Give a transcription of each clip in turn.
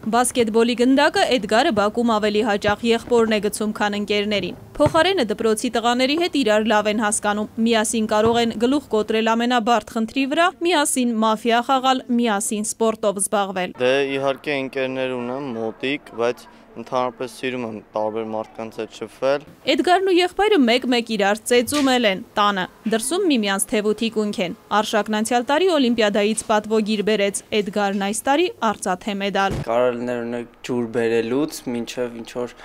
Բասկետբոլի գնդակը Էդգարը Բաքում ավելի հաճախ եղբորն է գցում, քան ընկերներին։ Փոխարենը դպրոցի տղաների հետ իրար լավ են հասկանում, միասին կարող են գլուխ կոտրել ամենաբարդ խնդրի վրա, միասին մաֆիա խաղալ, միասին սպորտով զբաղվել։ Դե իհարկե ընկերներ ունեմ մոտիկ, բայց ընդհանրապես սիրում եմ տարբեր մարդկանց հետ շփվել։ Էդգարն ու եղբայրը մեկ-մեկ իրար ծեծում են տանը, դրսում միմյանց թևութի կունք են։ Արշակն անցյալ տարի օլիմպիադայից պատվոգիր բերեց, Էդգարն այս տարի արծաթե մեդալ։ Կարելներ ջուր բերելուց մինչև ինչ-որ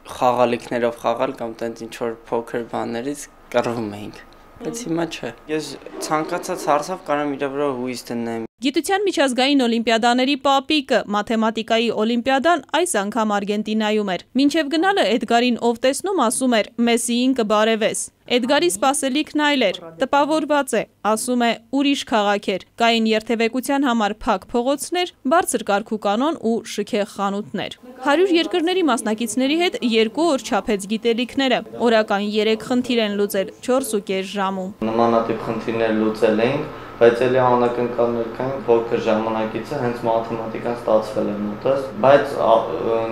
խաղալիքներով խաղալ կամ տենց ինչ-որ փոքր բաներից կռվում էինք, բայց հիմա չէ։ Ես ցանկացած հարցով կարող եմ իր վրա հույս դնեմ։ Գիտության միջազգային օլիմպիադաների պապիկը, մաթեմատիկայի օլիմպիադան այս անգամ Արգենտինայում էր։ Մինչև գնալը Էդգարին ով տեսնում ասում էր «Մեսսիին կբարևես»։ Էդգարի սպասելիքն այլ էր, տպավորված է, ասում է ուրիշ քաղաք էր, կային երթևեկության համար փակ փողոցներ, բարձր կարգու կանոն ու շքեղ խանութներ։ 100 երկրների մասնակիցների հետ 2 օր չափեց գիտելիքները, օրական 3 խնդիր են լուծել 4.5 ժամում։ Նմանատիպ խնդիրներ լուծել էինք, բայց էլի անակնկալներ կային, փոքր ժամանակից է հենց մաթեմատիկան ստացվել է մոտս, բայց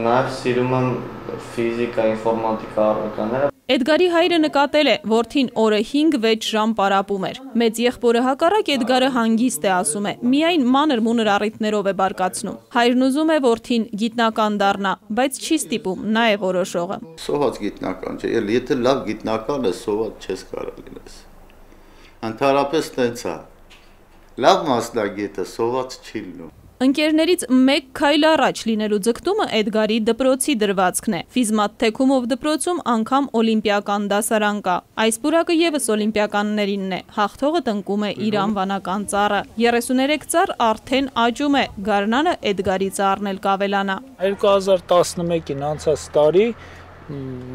նաև սիրում եմ ֆիզիկա, ինֆորմատիկա առարկաները։ Էդգարի հայրը նկատել է, որդին օրը 5-6 ժամ պարապում էր։ Մեծ եղբորը հակառակ Էդգարը հանգիստ է, ասում է, միայն մանր-մունր առիթներով է բարկացնում։ Հայրն ուզում է որդին գիտնական դառնա, բայց չի ստիպում, նա է որոշողը։ Սոված գիտնական չէ, եթե լավ գիտնական է, սոված չես կարող լինես։ Ընդհանրապես տենց է։ Լավ մասնագետը սոված չի լինում։ Ընկերներից մեկ քայլ առաջ լինելու ձգտումը Էդգարի դպրոցի դրվածքն է։ Ֆիզմատ թեքումով դպրոցում անգամ օլիմպիական դասարան կա։ Այս պուրակը եւս օլիմպիականներինն է։ Հաղթողը տնկում է իր անվանական ծառը։ 33 ծառ արդեն աճում է։ Գարնանը Էդգարի ծառն էլ կավելանա։ 2011-ին անցած տարի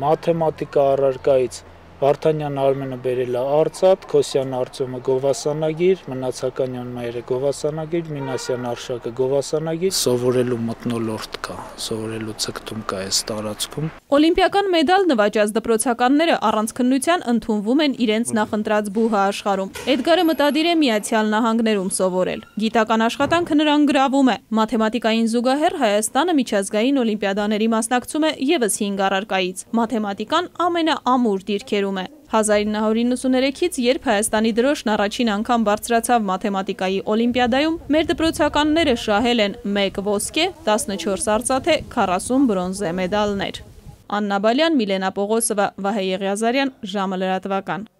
մաթեմատիկա առարկայից Վարդանյան Արմենը բերել է արծաթ, Քոսյան Արտյոմը գովասանագիր, Մնացականյան Մայրը գովասանագիր, Մինասյան Արշակը գովասանագիր, սովորելու մթնոլորտ կա, սովորելու ցկտում կա այս տարածքում։ Օլիմպիական մեդալ նվաճած դպրոցականները առանց քննության ընդունվում են իրենց նախընտրած բուհը աշխարհում։ Էդգարը մտադիր է Միացյալ Նահանգներում սովորել։ Գիտական աշխատանքը նրան գրավում է։ Մաթեմատիկային զուգահեռ Հայաստանը միջազգային օլիմպիադաների մասնակցում է եւս 5 առարկայից։ Մաթեմատիկան ամենաամուր դիրքերում 1993-ից, երբ Հայաստանի դրոշն առաջին անգամ բարձրացավ մաթեմատիկայի օլիմպիադայում, մեր դպրոցականները շահել են 1 ոսկե, 14 արծաթե, 40 բրոնզե մեդալներ։ Աննա Բալյան, Միլենա Պողոսովա, Վահե Եղիազարյան, ժամը լրատվական։